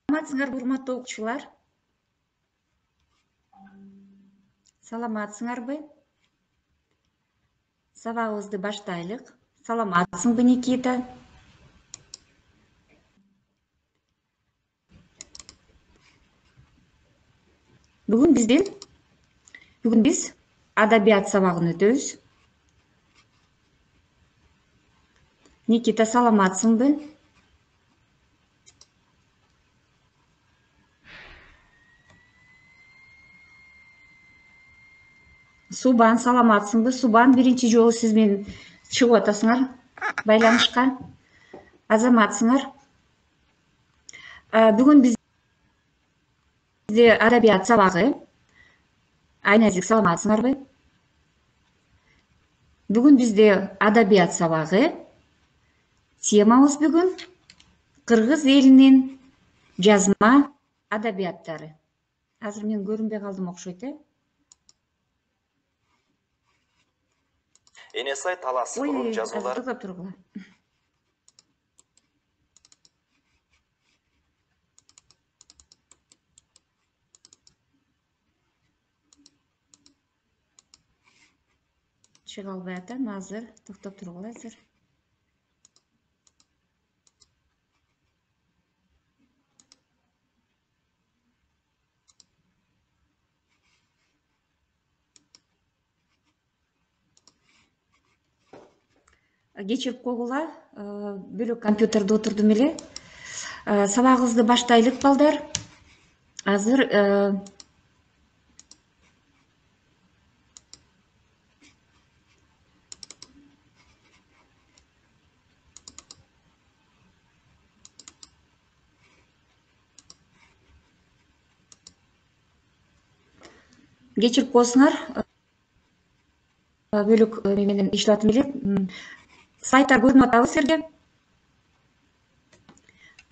Саламатсыңарбы, урматтуу окуучулар? Саламатсыңарбы? Сабагыбызды баштайлык. Саламатсыңбы, Никита? Бүгүн биз адабият сабагын өтөбүз. Никита, саламатсыңбы? Субан, саламатсыңбы? Субан, биринчи жолу сиз менен чыгып атасыңар байланышка. Азаматсыңар. Бүгүн бизде адабият сабагы. Айназик, саламатсыңарбы? Бүгүн бизде адабият сабагы. Темабыз бүгүн кыргыз элинин жазма адабияттары. Азыр мен көрүнбөй калдым окшойт, Энесай Талас рун жазуулары. Токтоп тургула. Чыга албай атам азыр. Токтоп тургула азыр. Кечирип койгула, бөлөк компьютерде отурдум эле. Сабагыбызды баштайлык, балдар. Азыр кечирип койсуңар. Бөлөк менен иштеп атам эле. Сайттар көрүнүп атабы силерге?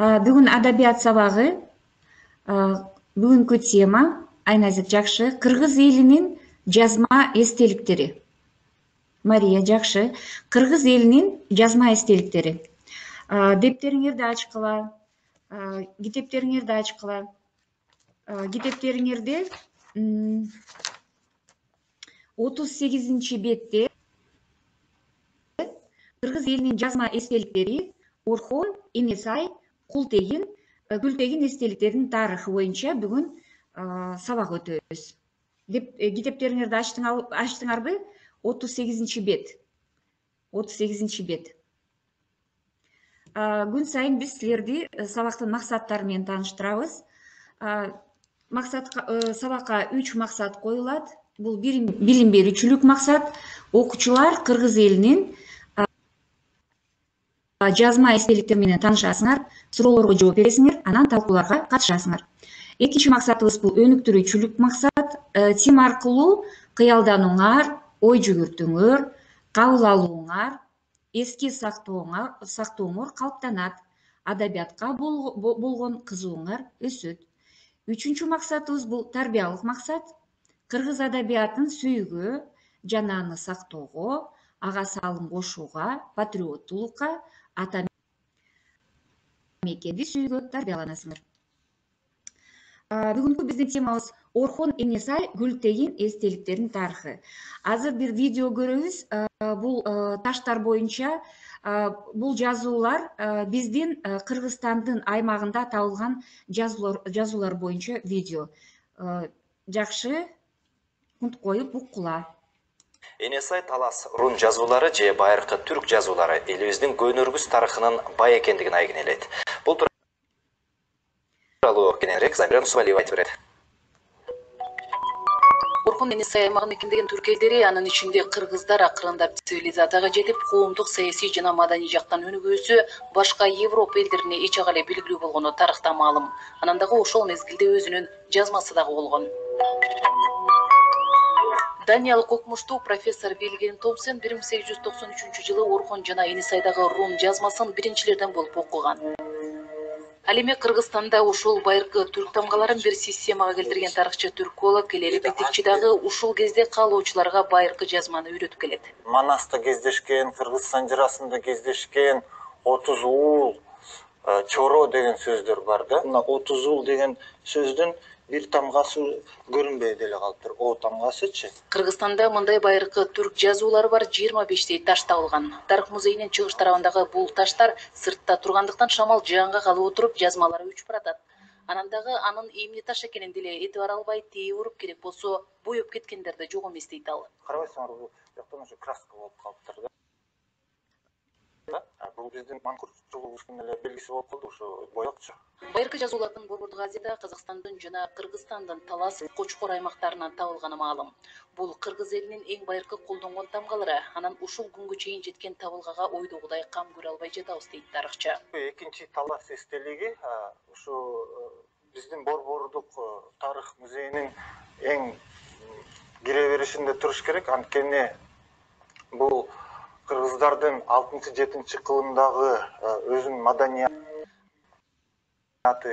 Бүгүн адабият сабагы. Бүгүнкү тема Айназик жакшы. Кыргыз элинин жазма эстеликтери. Мария жакшы. Кыргыз элинин жазма эстеликтери. Дептериңерди ачкыла. Китептериңерди ачкыла. Китептериңерде 38 бетте кыргыз элинин жазма эстеликтери Орхон, Энесай, Култегин, Күлтегин эстеликтеринин тарыхы боюнча бүгүн сабак өтөбүз. Китептериңерди ачтыңарбы? 38 бет. 38 бет. Күн сайын биз силерди сабактын максаттары менен тааныштырабыз. Сабакка 3 максат коюлат. Бул билим берүүчүлүк максат. Окуучулар кыргыз элинин жазма эстеликтери менен таанышасыңар, суроолорго жооп бересиңер, анан талкууларга катышасыңар. Экинчи максатыбыз бул өнүктүрүүчүлүк максат. Тема аркылуу кыялданууңар, ой жүгүртүүңөр, кабыл алууңар, эске сактооңор калыптанат. Адабиятка болгон кызыгууңар өсөт. Үчүнчү максатыбыз бул тарбиялык максат. Кыргыз адабиятын сүйүүгө жана аны сактоого, ага салым кошууга, патриоттулукка, ата мекенди сүйүүгө тарбияланасыңар. Бүгүнкү биздин темабыз Орхон, Энесай, Күлтегин эстеликтеринин тарыхы. Азыр бир видео көрөбүз. Бул таштар боюнча, бул жазуулар биздин Кыргызстандын аймагында табылган жазуулар боюнча видео. Жакшы, кунт коюп уккула. Энесай Талас рун жазуулары же байыркы түрк жазуулары элибиздин көнөргүс тарыхынын бай экендигин айгинелейт. Бул тууралуу кененирээк Замира Нусубалиева айтып берет. Орхон, Энесай аймагын мекендеген түрк элдери, анын ичинде кыргыздар акырындап цивилизацияга жетип, коомдук, саясий жана маданий жактан өнүгүүсү башка Европа элдерине эч ага эле белгилүү болгону тарыхта маалым. Анан дагы ошол мезгилде өзүнүн жазмасы дагы болгон. Даниялык окумуштуу профессор Вильгельм Томпсон 1893-жылы Орхон жана Энесайдагы рун жазмасын биринчилерден болуп окуган. Ал эми Кыргызстанда ушул байыркы түрк тамгаларын бир системага келтирген тарыхчы түрколог Келери Бетикчи дагы ушул кезде каалоочуларга байыркы жазманы үйрөтүп келет. Манаста кездешкен, Кыргызстан жырасында кездешкен 30 уул чоро деген сөздөр бар да. Мына отузул деген сөздүн бир тамгасы көрүнбөй деле калыптыр. О тамгасычы. Кыргызстанда мындай байыркы түрк жазуулары бар 25 таш табылган. Тарых музейинин чыгыш тарабындагы бул таштар сыртта тургандыктан шамал жаанга калып отуруп жазмалары өчүп баратат. Анан дагы анын эмне таш экенин деле этибар албай тээ уруп, керек болсо боеп кеткендер да жок эмес дейт ал. Карабайсыңар, бул жактан уже краска болуп калыптыр да. Бул биздин манкуртчулугубуздун эле белгиси болуп калды, ошо боякчы. Байыркы жазуулардын Борбордук Азияда Казакстандын жана Кыргызстандын Талас, Кочкор аймактарынан табылганы маалым. Бул кыргыз элинин эң байыркы колдонгон тамгалары. Анан ушул күнгө чейин жеткен табылгага ойдогудай кам көрө албай жатабыз дейт тарыхчы. Экинчи Талас эстелиги ушу биздин Борбордук тарых музейинин эң кире беришинде туруш керек. Анткени бул кыргыздардын 6-7 кылымдагы өзүнүн маданияты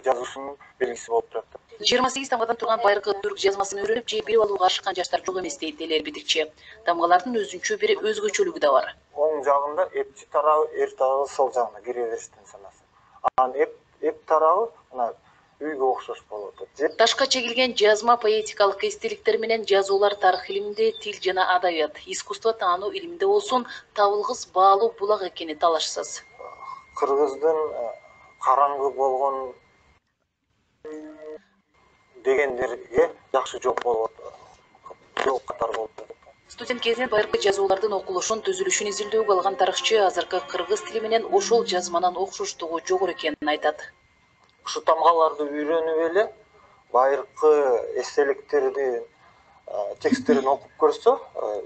жазуусунун белгиси болуп турат. 28 тамгадан турган байыркы түрк жазмасын үйрөнүп же билип алууга ашыккан жаштар жок эмес дейт эл битикчи. Тамгалардын өзүнчө бир өзгөчөлүгү да бар. Оң жагында эпчи тарабы, эр тарабы сол жагында кире бериштен санасы. Анан эп тарабы мына үйгө окшош болуп атат. Ташка чегилген жазма поэтикалык эстеликтер менен жазуулар тарых илиминде, тил жана адабият, искусство таануу илиминде болсун табылгыс баалуу булак экени талашсыз. Кыргыздын караңгы болгон дегендерге жакшы жооп болот. Жооп катары болуп атат. Студент кезинен байыркы жазуулардын окулушун, түзүлүшүн изилдөөгө алган тарыхчы азыркы кыргыз тили менен ошол жазманын окшоштугу жогору экенин айтат. Ушу тамгаларды үйрөнүп эле байыркы эстеликтерди тексттерин окуп көрсө,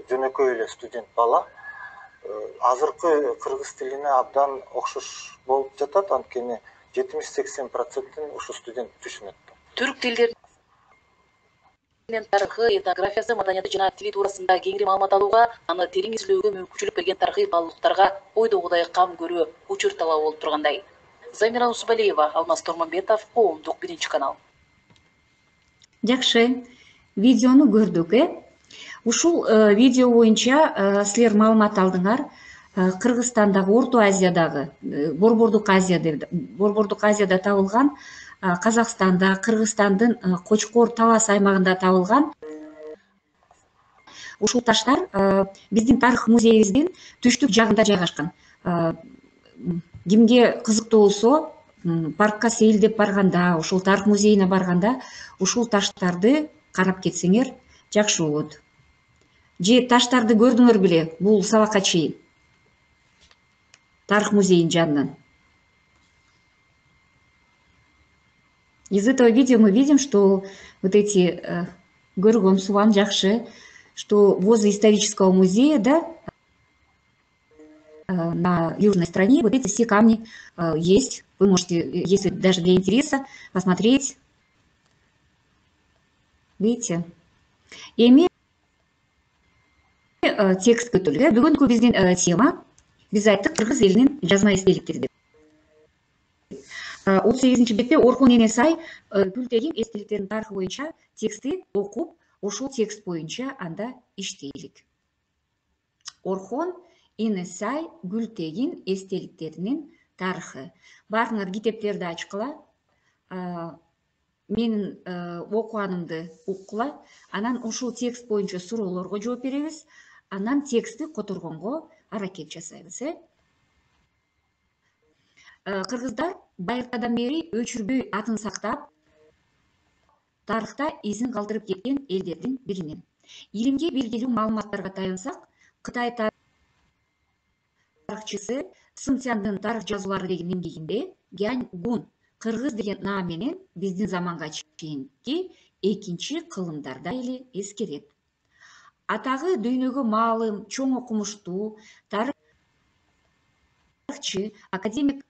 жөнөкөй эле студент бала азыркы кыргыз тилине абдан окшош болуп жатат. Анткени 70-80% ушу студент түшүнөт. Түрк тилдеринин тарыхы, этнографиясы, маданияты жана тили туурасында кеңири маалымат алууга, аны терең изилдөөгө мүмкүнчүлүк берген тарыхый баалуулуктарга ойдогудай кам көрүү учур талабы болуп тургандай. Замира Усбалиева, Алмаз Тормонбетов, Коомдук, 1-канал. Жакшы, видеону көрдүк, Ушул видео боюнча силер маалымат алдыңар. Кыргызстандагы, Орто Азиядагы, Борбордук Азияда табылган, Казакстанда, Кыргызстандын Кочкор, Талас аймагында табылган ушул таштар биздин тарых музейибиздин түштүк жагында жайгашкан. Кимге кызыктуу болсо, паркка сейилдеп барганда, ушул тарых музейине барганда, ушул таштарды карап кетсеңер жакшы болот. Же таштарды көрдүңөр беле, бул сабакка чейин тарых музейинин жанынан. Из этого видео мы видим, что вот эти көргөн субан жакшы, что возле исторического музея, да, на южной стороне вот эти все камни есть. Вы можете, если даже для интереса, посмотреть. Видите? Эми текст көтөлгө. Бүгүнкү биздин тема биз айттык кыргыз элинин жазма эстеликтери. 38-бетте Орхон Энесай Гүлтегин эстеликтеринин тарыхы боюнча текстти окуп, ошол текст боюнча анда иштейлик. Орхон Энесай Гүлтегин эстеликтеринин тарыхы. Барыңар китептерди ачкыла, менин окуганымды уккула, анан ошол текст боюнча суроолорго жооп беребиз, анан текстти которгонго аракет жасайбыз. Кыргыздар байыртадан бери өчүрбөй атын сактап, тарыхта изин калтырып кеткен элдердин биринен. Илимге белгилүү маалыматтарга таянсак, Кытай тарыхчысы Сын Цяндын тарых жазуулары деген эмгегинде Гянь Гун кыргыз деген наам менен биздин заманга чейинки экинчи кылымдарда эле эскерет. Атагы дүйнөгө маалым, чоң окумуштуу тарыхчы академик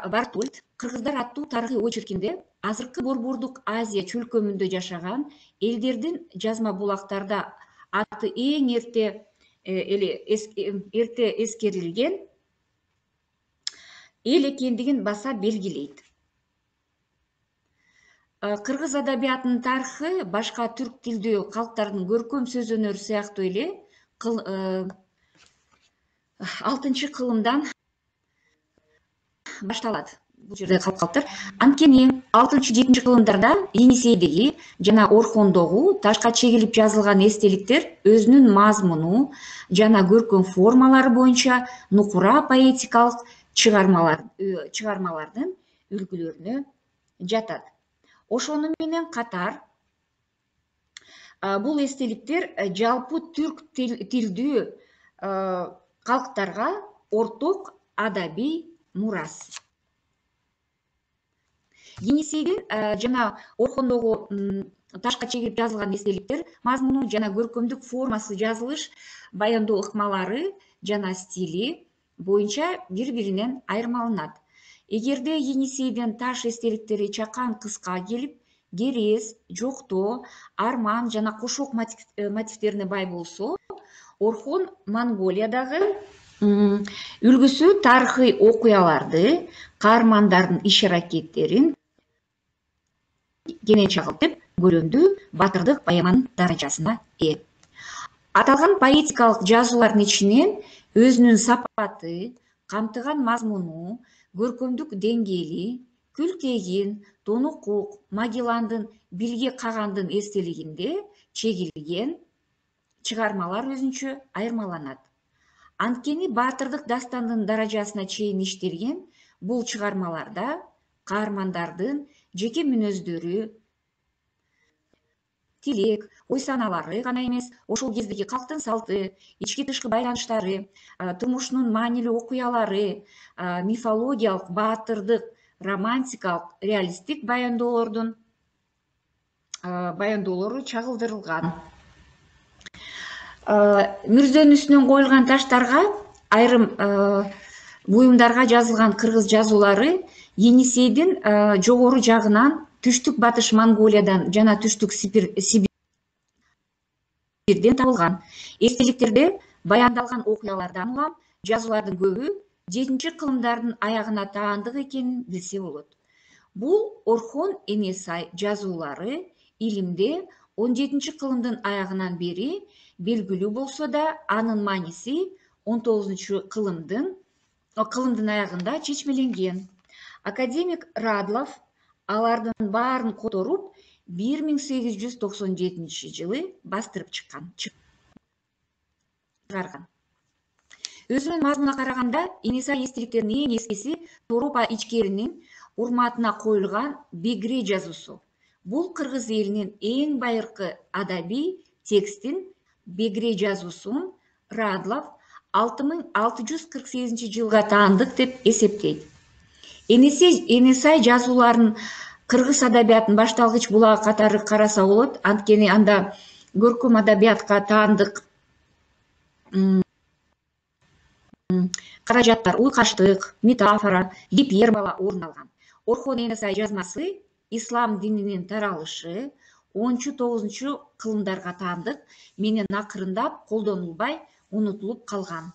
Бартольд кыргыздар аттуу тарыхый очеркинде азыркы Борбордук Азия чөлкөмүндө жашаган элдердин жазма булактарда аты эң эрте эскерилген эл экендигин баса белгилейт. Кыргыз адабиятынын тарыхы башка түрк тилдүү калктардын көркөм сөз өнөрү сыяктуу эле 6-кылымдан башталат. Бул жерде калып калыптыр. Анткени 6-7 кылымдарда Енисейдеги жана Орхондогу ташка чегилип жазылган эстеликтер өзүнүн мазмуну жана көркөм формалары боюнча нукура поэтикалык чыгармалардын үлгүлөрүнө жатат. Ошону менен катар бул эстеликтер жалпы түрк тилдүү калктарга орток адабий мурас. Енисейдин жана Орхондогу ташка чегип жазылган эстеликтер мазмуну жана көркөмдүк формасы, жазылыш, баяндоо ыкмалары жана стили боюнча бири-биринен айырмаланат. Эгерде Енисейдин таш эстеликтери чакан кыска келип, керес, жоктоо, арман жана кошок мотивтерине бай болсо, Орхон Монголиядагы үлгүсү тарыхый окуяларды, каармандардын иш-аракеттерин кенен чагылтып, көрөмдүү батырдык поэманын даражасына ээ. Аталган поэтикалык жазуулардын ичинен өзүнүн сапаты, камтыган мазмуну, көркөмдүк деңгээли, Күлтегин, Тонукук, Магелландын Билге Кагандын эстелигинде чегилген чыгармалар өзүнчө айырмаланат. Анткени баатырдык дастандын даражасына чейин иштелген бул чыгармаларда каармандардын жеке мүнөздөрү, тилек, ой саналары гана эмес, ошол кездеги калктын салты, ички тышкы байланыштары, турмушунун маанилүү окуялары, мифологиялык, баатырдык, романтикалык, реалисттик баяндоолору чагылдырылган. Мүрзөнүн үстүнөн коюлган таштарга, айрым буюмдарга жазылган кыргыз жазуулары Енисейдин жогору жагынан түштүк батыш Монголиядан жана түштүк Сибирден табылган. Эстеликтерде баяндалган окуялардан улам жазуулардын көбү 7 кылымдардын аягына таандык экенин билсе болот. Бул Орхон Энесай жазуулары илимде 17 кылымдын аягынан бери белгилүү болсо да, анын мааниси 19 кылымдын аягында чечмеленген. Академик Радлов алардын баарын которуп 1897 жылы бастырып чыгарган. Өзүнүн мазмунуна караганда, Энесай эстеликтеринин эң эскиси Торопа ичкеринин урматына коюлган Бегре жазуусу. Бул кыргыз элинин эң байыркы адабий текстин Бегре жазуусун Радлов 6648 жылга таандык деп эсептейт. Энесай жазууларын кыргыз адабиятынын башталгыч булагы катары караса болот, анткени анда көркөм адабиятка таандык каражаттар, уйкаштык, метафора, гипербола орун алган. Орхон Энесай жазмасы ислам дининин таралышы 10-9 кылымдарга таандык менен акырындап колдонулбай унутулуп калган.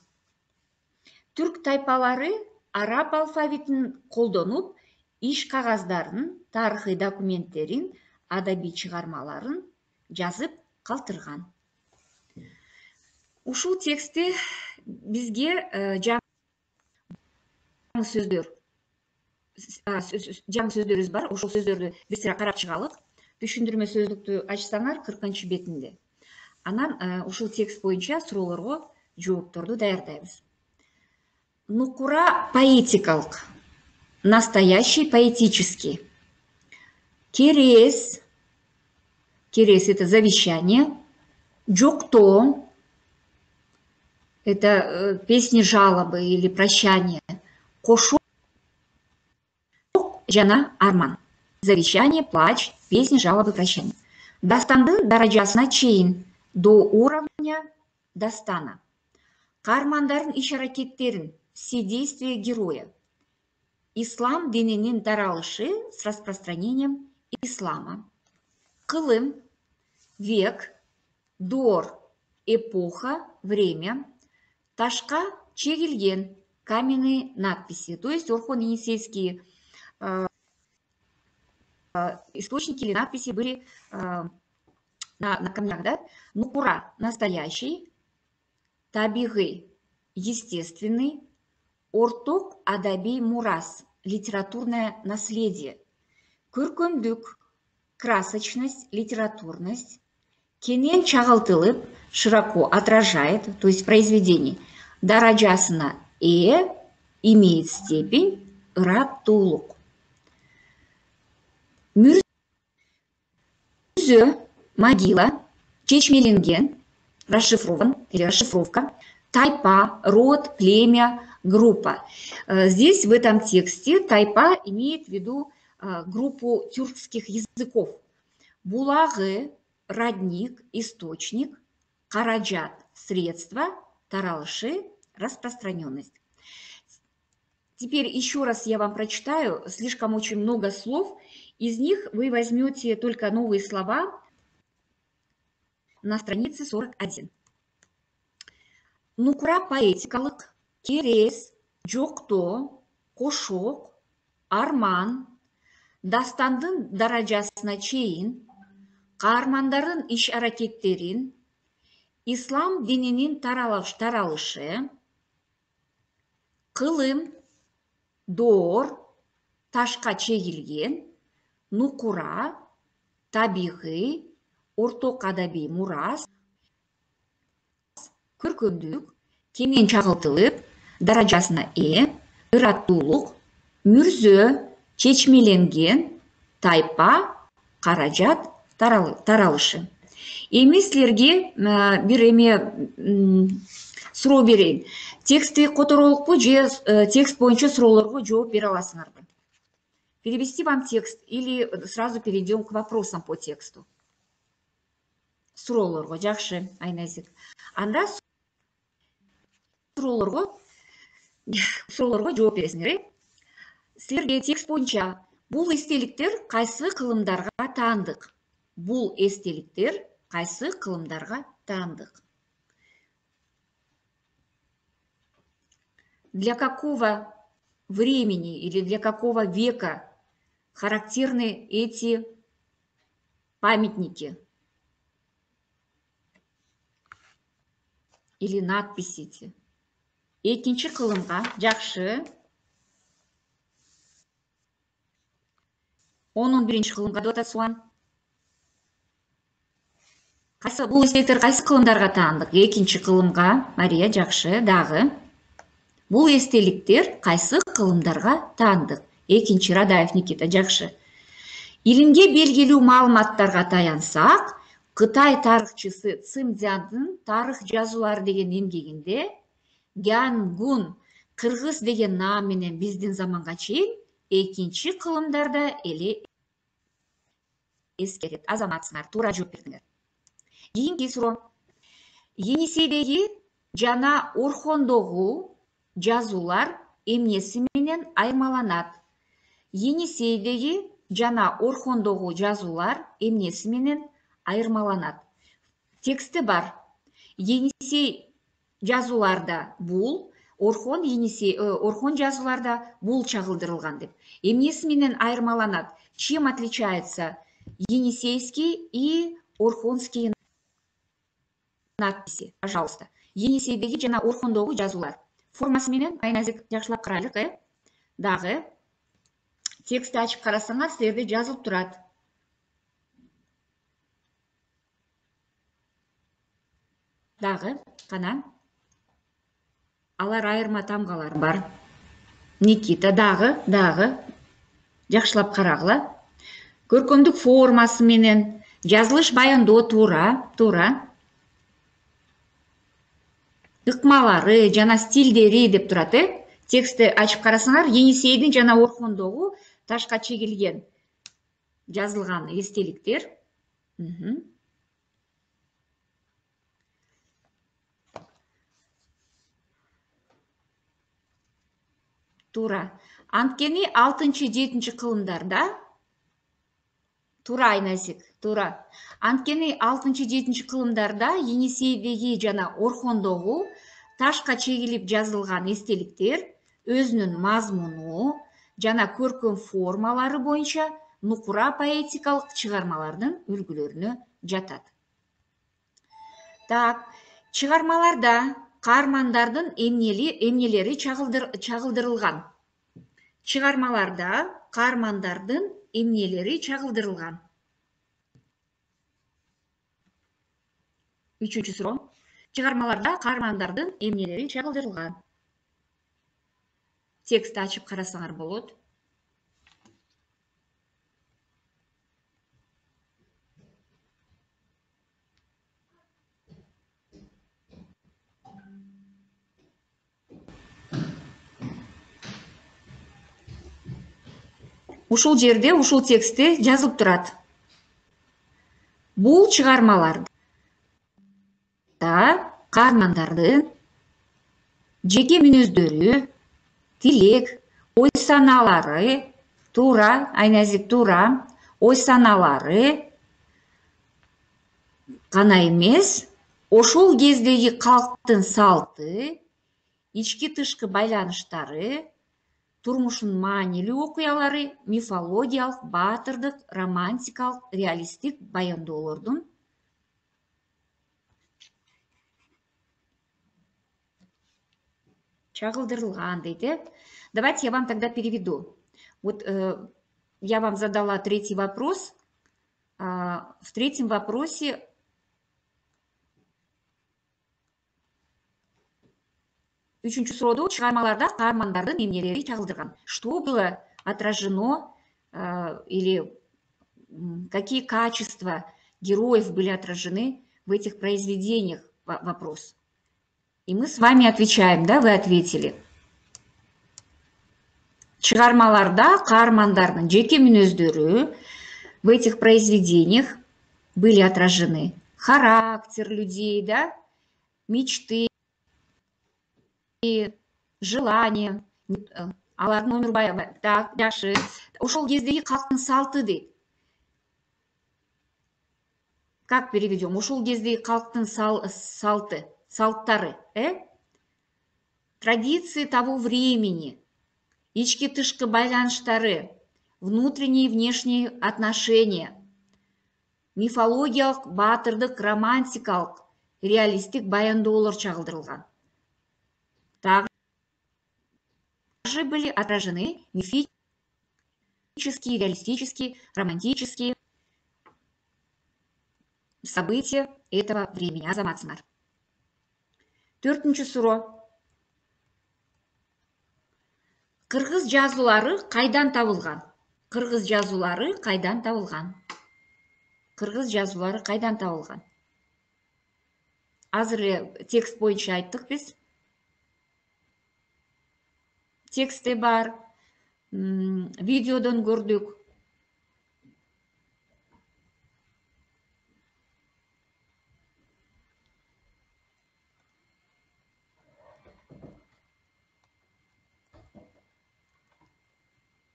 Түрк тайпалары араб алфавитин колдонуп, иш кагаздарын, тарыхый документтерин, адабий чыгармаларын жазып калтырган. Ушул текстти бизге жаңы сөздөрүбүз бар. Ошол сөздөрдү бир сыра карап чыгалык. Түшүндүрмө сөздүктү ачсаңар 40 бетинде. Анан ушул текст боюнча суроолорго жоопторду даярдайбыз. Нукура поэтикалык, настоящий поэтический. Керес это завещание. Жоктоо это песни жалобы или прощание. Кошок жана арман. Завещание, плач, песни, жалобы, прощание. Дастандын даражасына чейин, до уровня дастана. Каармандардын иш-аракеттерин, все действия героя. Ислам дининин таралышы с распространением ислама. Кылым, век, дор, эпоха, время. Ташка чегилген, каменные надписи. То есть Орхон Енисейские источники или надписи были на камнях, да? Нукура настоящий, табигый естественный, орток адабий мурас литературное наследие. Көркөмдүк, красочность, литературность кенен чагылтылып, широко отражает, то есть произведение даражасына имеет степень ыраптуулук. Мүрзө, могила, чечмеленген, расшифрован или расшифровка, тайпа, род, племя, группа. Здесь в этом тексте тайпа имеет в виду группу тюркских языков. Булагы, родник, источник, каражат, средства, таралышы, распространенность. Теперь еще раз я вам прочитаю, слишком очень много слов. Из них вы возьмете только новые слова на странице 41. Нукура поэтикалык, керес, жокто, кошок, арман, дастандын даражасына чейин, каармандардын иш-аракеттерин, ислам дининин таралышы, кылым, доор, ташка чегилген, нукура, табигый, орток адабий мурас, көркөмдүк, кенен чагылтылып, даражасына ырааттуулук, мүрзө, чечмеленген, тайпа, каражат, таралышы. Эми силерге бир суроо берейин. Текстти которолукпу же текст боюнча суроолорго жооп бере аласыңарбы? Перевести вам текст или сразу перейдем к вопросам по тексту? Суроолорго, жакшы, Айназик. Анда суроолорго жооп бересиңер. Силерге текст боюнча бул эстеликтер кайсы кылымдарга таандык? Бул эстеликтер кайсы кылымдарга таандык? Для какого времени или для какого века характерны эти памятники или надписи? Экинчи кылымга, жакшы. 11-ci кылымга деп атасың. Кайсы бул эстеликтер кайсы кылымдарга таандык? Экинчи кылымга, Мария, жакшы, дагы. Бул эстеликтер кайсы кылымдарга таандык? Экинчи, Радаев Никита, жакшы. Илимге белгилүү маалыматтарга таянсак, Кытай тарыхчысы Цимдзяндын тарых жазуулары деген эмгегинде Гянгун кыргыз деген наам менен биздин заманга чейин экинчи кылымдарда эле эскерет. Азаматсыңар, туура жооп бердиңер. Кийинки суроо. Енисейдеги жана Орхондогу жазуулар эмнеси менен айырмаланат? Енисейдеги жана Орхондогу жазуулар эмнеси менен айырмаланат? Тексти бар. Енисей жазууларда бул, Орхон жазууларда бул чагылдырылган деп. Эмнеси менен айырмаланат? Чем отличается енисейский и орхонские надписи? Пожалуйста. Енисейдеги жана Орхондогу жазуулар. Формасы менен Айназик жакшылап карайлык, Дагы текстти ачып карасаңар, силерде жазылып турат. Дагы, кана. Алар айырма тамгалар бар. Никита, дагы. Жакшылап карагыла. Көркөмдүк формасы менен, жазылыш баяндоо туура. Ыкмалары жана стилдери деп турат, Текстти ачып карасаңар, Енисейдин жана Орхондогу ташка чегилген жазылган эстеликтер. Туура. Анткени 6-7 кылымдарда туура, Айназик, туура. Анткени 6-7 кылымдарда Енисейдеги жана Орхондогу ташка чегилип жазылган эстеликтер өзүнүн мазмуну жана көркөм формалары боюнча нукура поэтикалык чыгармалардын үлгүлөрүнө жатат. Так, чыгармаларда каармандардын эмнелери чагылдырылган. чыгармаларда каармандардын эмнелери чагылдырылган? Үчүнчү суроо. Чыгармаларда каармандардын эмнелери чагылдырылган? Текстти ачып карасаңар болот. Ушул жерде ушул текстте жазылып турат. Бул чыгармаларда каармандардын жеке мүнөздөрү, тилек, ой санаалары, туура, Айназик туура, ой санаалары гана эмес, ошол кездеги калктын салты, ички тышкы байланыштары, турмуштун маанилүү окуялары, мифологиялык, баатырдык, романтикалык, реалисттик баяндоолордун чагылдырылган дейт. Давайте я вам тогда переведу. Вот я вам задала третий вопрос. В третьем вопросе үчүнчү суроодо чыгармаларда каармандардын эмнелери чагылдырган? Что было отражено или какие качества героев были отражены в этих произведениях? Вопрос. И мы с вами отвечаем, да, вы ответили. Чыгармаларда каармандардын жеке мүнөздөрү в этих произведениях были отражены. Характер людей, да, мечты, желания, алардын өмүр баю. Так, жакшы. Ошол кездеги калктын салты дейт. Как переведем? Ошол кездеги калктын салты, салттары, традиции того времени, ички тышкы байланыштары, внутренние и внешние отношения, мифологиялык, баатырдык, романтикалык, реалисттик баяндоолор чагылдырылган. Также были отражены мифические, реалистические, романтические события этого времени. Азаматсыңар. Төртүнчү суроо. Кыргыз жазуулары кайдан табылган? Кыргыз жазуулары кайдан табылган? Кыргыз жазуулары кайдан табылган? Азыр эле текст боюнча айттык биз. Текстте бар, видеодон көрдүк.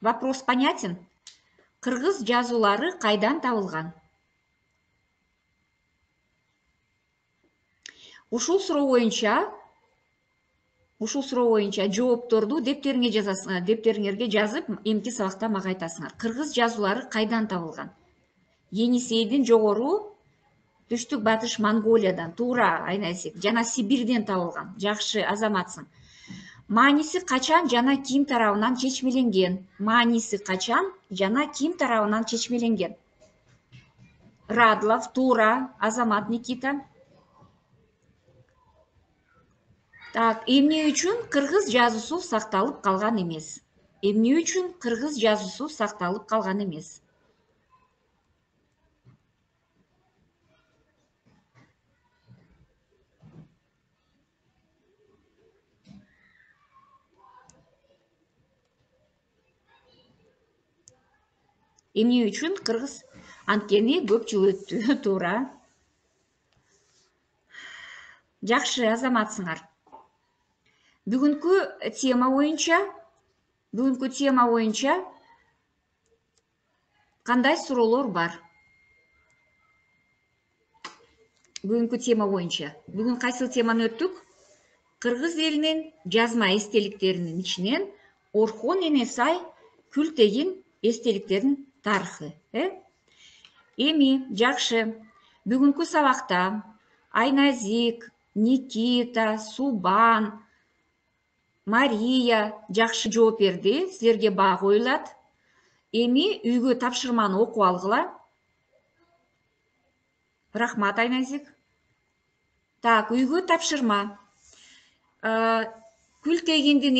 Вопрос понятен? Кыргыз жазуулары кайдан табылган? Ушул суроо боюнча жоопторду дептериңерге жазып, эмки сабакта мага айтасыңар. Кыргыз жазуулары кайдан табылган? Енисейдин жогору түштүк батыш Монголиядан, туура Айнасик, жана Сибирден табылган. Жакшы, азаматсың. Мааниси качан жана ким тарабынан чечмеленген? Мааниси качан жана ким тарабынан чечмеленген? Радлов, туура, азамат Никита. Так, эмне үчүн кыргыз жазуусу сакталып калган эмес? Эмне үчүн кыргыз жазуусу сакталып калган эмес? Эмне үчүн кыргыз? Анткени көп жыл өттү, туура. Жакшы, азаматсыңар. Бүгүнкү тема боюнча кандай суроолор бар? Бүгүнкү тема боюнча. Бүгүн кайсыл теманы өттүк? Кыргыз элинин жазма эстеликтеринин ичинен Орхон Энесай Күлтегин эстеликтеринин тарыхы. Эми, жакшы. Бүгүнкү сабакта Айназик, Никита, Субан, Мария жакшы жооп берди. Силерге баа коюлат. Эми үйгө тапшырманы окуп алгыла. Рахмат, Айназик. Так, үйгө тапшырма. Күлтегиндин